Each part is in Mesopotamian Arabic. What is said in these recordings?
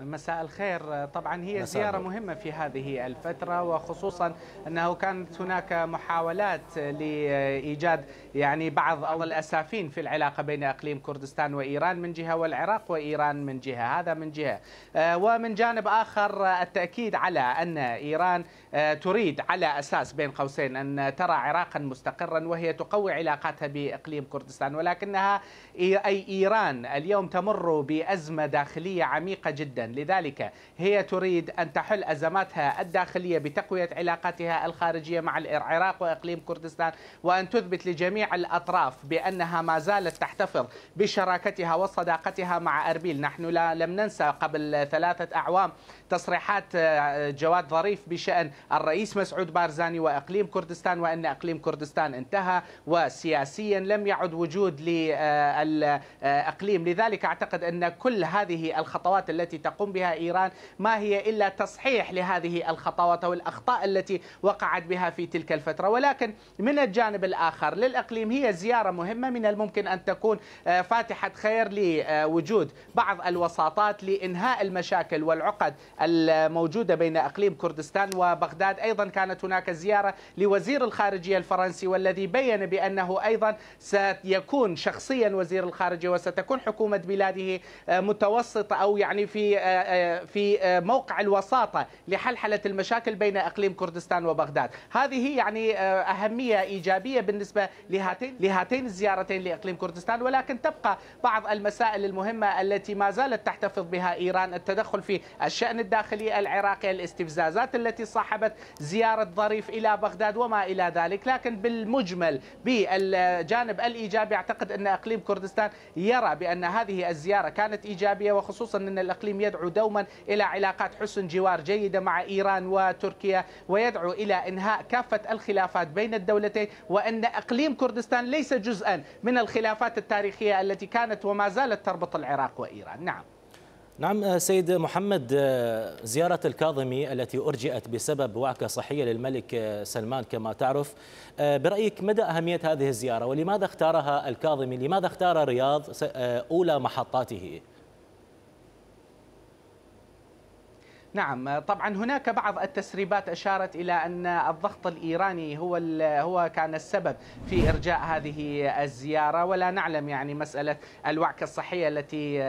مساء الخير. طبعا هي زيارة مهمة في هذه الفترة، وخصوصا أنه كانت هناك محاولات لإيجاد بعض الأسافين في العلاقة بين إقليم كردستان وإيران من جهة، والعراق وإيران من جهة. هذا من جهة، ومن جانب آخر التأكيد على أن إيران تريد على أساس بين قوسين أن ترى عراقا مستقرا وهي تقوي علاقاتها بإقليم كردستان، ولكنها أي إيران اليوم تمر بأزمة داخلية عميقة جدا، لذلك هي تريد أن تحل أزماتها الداخلية بتقوية علاقاتها الخارجية مع العراق وإقليم كردستان، وأن تثبت لجميع الأطراف بأنها ما زالت تحتفظ بشراكتها وصداقتها مع أربيل. نحن لم ننسى قبل 3 أعوام تصريحات جواد ظريف بشأن الرئيس مسعود بارزاني وإقليم كردستان، وأن إقليم كردستان انتهى وسياسيا لم يعد وجود للإقليم. لذلك أعتقد أن كل هذه الخطوات التي تقوم بها إيران ما هي إلا تصحيح لهذه الخطوات والأخطاء التي وقعت بها في تلك الفترة. ولكن من الجانب الآخر للإقليم هي زيارة مهمة من الممكن أن تكون فاتحة خير لوجود بعض الوساطات لإنهاء المشاكل والعقد الموجودة بين إقليم كردستان وبغداد. أيضا كانت هناك زيارة لوزير الخارجية الفرنسي، والذي بيّن بأنه أيضا سيكون شخصيا وزير الخارجية وستكون حكومة بلاده متوسطة أو في موقع الوساطة لحلحلة المشاكل بين إقليم كردستان وبغداد. هذه أهمية إيجابية بالنسبة لهاتين الزيارتين لإقليم كردستان، ولكن تبقى بعض المسائل المهمة التي ما زالت تحتفظ بها إيران: التدخل في الشأن الداخلي العراقي، الاستفزازات التي صاحبت زيارة ظريف إلى بغداد وما إلى ذلك. لكن بالمجمل بالجانب الإيجابي أعتقد أن إقليم كردستان يرى بأن هذه الزيارة كانت إيجابية، وخصوصا أن الإقليم يدعو دوما إلى علاقات حسن جوار جيدة مع إيران وتركيا، ويدعو إلى إنهاء كافة الخلافات بين الدولتين، وأن إقليم كردستان ليس جزءا من الخلافات التاريخية التي كانت وما زالت تربط العراق وإيران. نعم سيد محمد، زيارة الكاظمي التي أرجئت بسبب وعكة صحية للملك سلمان كما تعرف، برأيك مدى أهمية هذه الزيارة، ولماذا اختارها الكاظمي؟ لماذا اختار الرياض أولى محطاته؟ نعم، طبعا هناك بعض التسريبات أشارت إلى أن الضغط الإيراني هو كان السبب في إرجاء هذه الزيارة، ولا نعلم مسألة الوعكة الصحية التي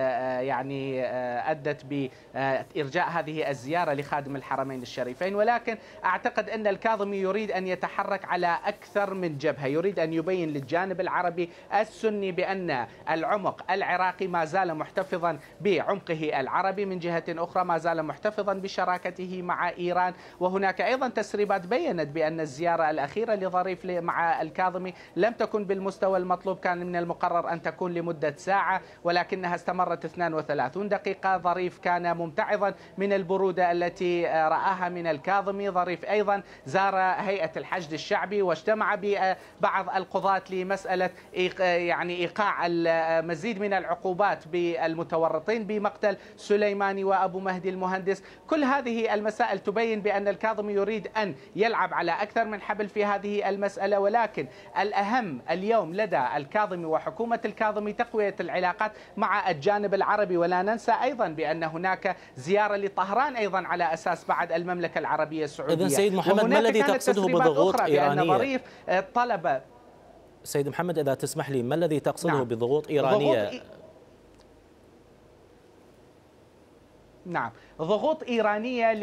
أدت بإرجاء هذه الزيارة لخادم الحرمين الشريفين. ولكن أعتقد أن الكاظمي يريد أن يتحرك على أكثر من جبهة، يريد أن يبين للجانب العربي السني بأن العمق العراقي ما زال محتفظا بعمقه العربي، من جهة أخرى ما زال محتفظا بشراكته مع إيران. وهناك أيضا تسريبات بيّنت بأن الزيارة الأخيرة لظريف مع الكاظمي لم تكن بالمستوى المطلوب، كان من المقرر أن تكون لمدة ساعة ولكنها استمرت 32 دقيقة. ظريف كان ممتعضا من البرودة التي رآها من الكاظمي. ظريف أيضا زار هيئة الحشد الشعبي واجتمع ببعض القضاة لمسألة إيقاع المزيد من العقوبات بالمتورطين بمقتل سليماني وأبو مهدي المهندس. كل هذه المسائل تبين بأن الكاظمي يريد أن يلعب على أكثر من حبل في هذه المسألة، ولكن الأهم اليوم لدى الكاظمي وحكومة الكاظمي تقوية العلاقات مع الجانب العربي. ولا ننسى أيضا بأن هناك زيارة لطهران أيضا على أساس بعد المملكة العربية السعودية. إذن سيد محمد، ما الذي تقصده بضغوط إيرانية؟ ظريف طلب سيد محمد إذا تسمح لي، ما الذي تقصده بضغوط إيرانية؟ نعم، ضغوط إيرانية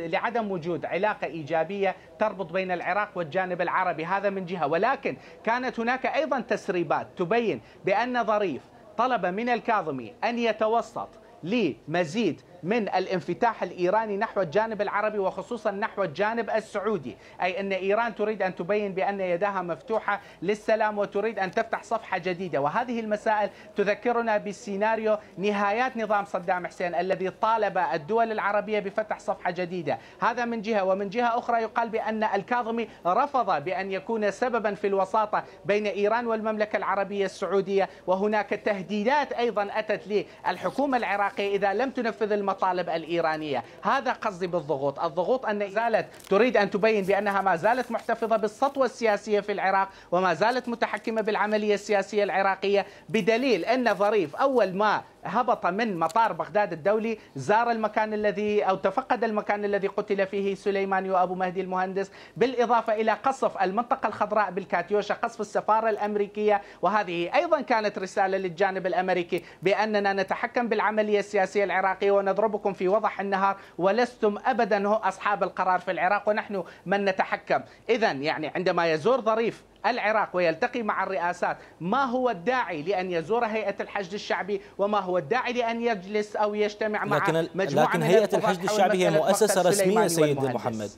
لعدم وجود علاقة إيجابية تربط بين العراق والجانب العربي، هذا من جهة. ولكن كانت هناك أيضا تسريبات تبين بأن ظريف طلب من الكاظمي أن يتوسط لمزيد من الانفتاح الإيراني نحو الجانب العربي، وخصوصا نحو الجانب السعودي، أي أن إيران تريد أن تبين بأن يدها مفتوحة للسلام وتريد أن تفتح صفحة جديدة. وهذه المسائل تذكرنا بسيناريو نهايات نظام صدام حسين الذي طالب الدول العربية بفتح صفحة جديدة. هذا من جهة، ومن جهة أخرى يقال بأن الكاظمي رفض بأن يكون سببا في الوساطة بين إيران والمملكة العربية السعودية. وهناك تهديدات أيضا أتت للحكومة العراقية إذا لم تنفذ المطالب الإيرانية. هذا قصدي بالضغوط. الضغوط أن زالت تريد أن تبين بأنها ما زالت محتفظة بالسطوة السياسية في العراق وما زالت متحكمة بالعملية السياسية العراقية، بدليل أن ظريف أول ما هبط من مطار بغداد الدولي، زار المكان الذي أو تفقد المكان الذي قتل فيه سليماني وأبو مهدي المهندس، بالإضافة إلى قصف المنطقة الخضراء بالكاتيوشا، قصف السفارة الأمريكية. وهذه أيضا كانت رسالة للجانب الأمريكي بأننا نتحكم بالعملية السياسية العراقية ونضربكم في وضح النهار، ولستم أبدا أصحاب القرار في العراق ونحن من نتحكم. إذا يعني عندما يزور ظريف العراق ويلتقي مع الرئاسات، ما هو الداعي لأن يزور هيئة الحشد الشعبي، وما هو الداعي لأن يجلس أو يجتمع مع مجموعة لكن من هيئة الحشد الشعبي هي مؤسسة رسمية سيد والمهندس. محمد،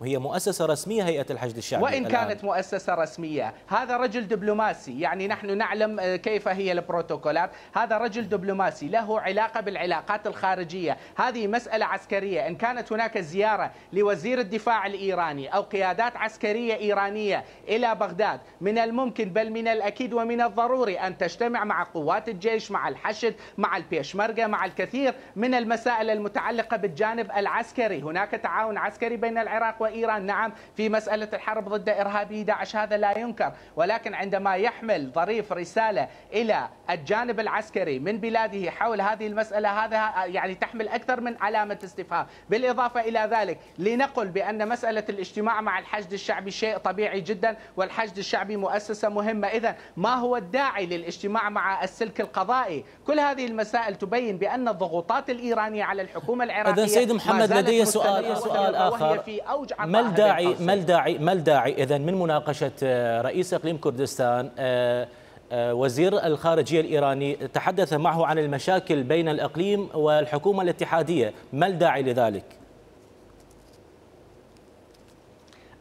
وهي مؤسسة رسمية هيئة الحشد الشعبي وإن كانت مؤسسة رسمية. هذا رجل دبلوماسي، يعني نحن نعلم كيف هي البروتوكولات. هذا رجل دبلوماسي له علاقة بالعلاقات الخارجية، هذه مسألة عسكرية. إن كانت هناك زيارة لوزير الدفاع الإيراني أو قيادات عسكرية إيرانية إلى بغداد، من الممكن بل من الأكيد ومن الضروري أن تجتمع مع قوات الجيش، مع الحشد، مع البيشمركة، مع الكثير من المسائل المتعلقة بالجانب العسكري. هناك تعاون عسكري بين العراق وإيران، نعم، في مسألة الحرب ضد إرهابي داعش، هذا لا ينكر. ولكن عندما يحمل ظريف رسالة إلى الجانب العسكري من بلاده حول هذه المسألة، هذا يعني تحمل أكثر من علامة استفهام. بالإضافة إلى ذلك، لنقل بأن مسألة الاجتماع مع الحشد الشعبي شيء طبيعي جدا، والحشد الشعبي مؤسسة مهمة. إذا ما هو الداعي للاجتماع مع السلك القضائي؟ كل هذه المسائل تبين بأن الضغوطات الإيرانية على الحكومة العراقية. إذن سيد محمد لدي سؤال آخر، ما الداعي إذن من مناقشة رئيس إقليم كردستان وزير الخارجية الإيراني تحدث معه عن المشاكل بين الإقليم والحكومة الاتحادية؟ ما الداعي لذلك؟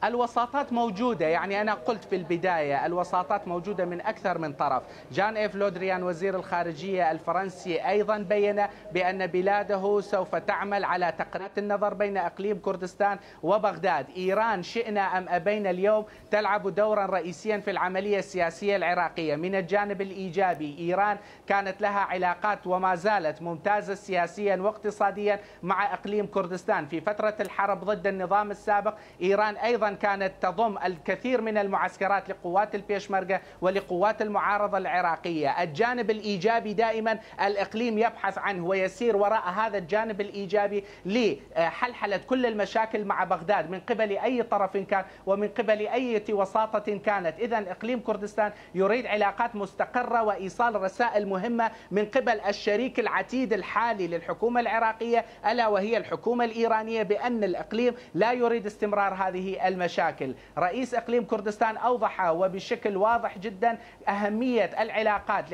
الوساطات موجودة، يعني أنا قلت في البداية الوساطات موجودة من أكثر من طرف. جان إيف لودريان وزير الخارجية الفرنسي أيضا بيّن بأن بلاده سوف تعمل على تقريب النظر بين إقليم كردستان وبغداد. إيران شئنا أم أبينا اليوم تلعب دورا رئيسيا في العملية السياسية العراقية. من الجانب الإيجابي، إيران كانت لها علاقات وما زالت ممتازة سياسيا واقتصاديا مع إقليم كردستان. في فترة الحرب ضد النظام السابق، إيران أيضا كانت تضم الكثير من المعسكرات لقوات البيشمركة ولقوات المعارضة العراقية. الجانب الإيجابي دائما الإقليم يبحث عنه ويسير وراء هذا الجانب الإيجابي لحلحلة كل المشاكل مع بغداد من قبل أي طرف كان ومن قبل أي وساطة كانت. إذا إقليم كردستان يريد علاقات مستقرة وإيصال رسائل مهمة من قبل الشريك العتيد الحالي للحكومة العراقية، ألا وهي الحكومة الإيرانية، بأن الإقليم لا يريد استمرار هذه المشاكل. رئيس إقليم كردستان أوضح وبشكل واضح جدا أهمية العلاقات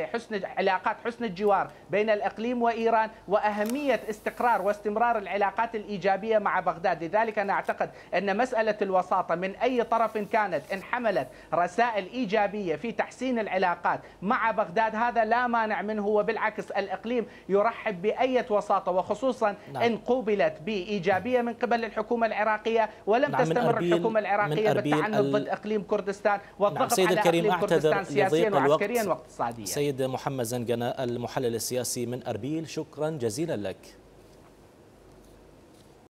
علاقات حسن الجوار بين الإقليم وإيران، وأهمية استقرار واستمرار العلاقات الإيجابية مع بغداد. لذلك أنا أعتقد أن مسألة الوساطة من أي طرف كانت إن حملت رسائل إيجابية في تحسين العلاقات مع بغداد هذا لا مانع منه، وبالعكس الإقليم يرحب بأي وساطة، وخصوصا إن قوبلت بإيجابية من قبل الحكومة العراقية ولم تستمر الحكومة العراقية بالتعنت ضد إقليم كردستان والضغط على إقليم كردستان سياسيا وعسكريا واقتصاديا. سيد محمد زنقنة المحلل السياسي من أربيل، شكرا جزيلا لك.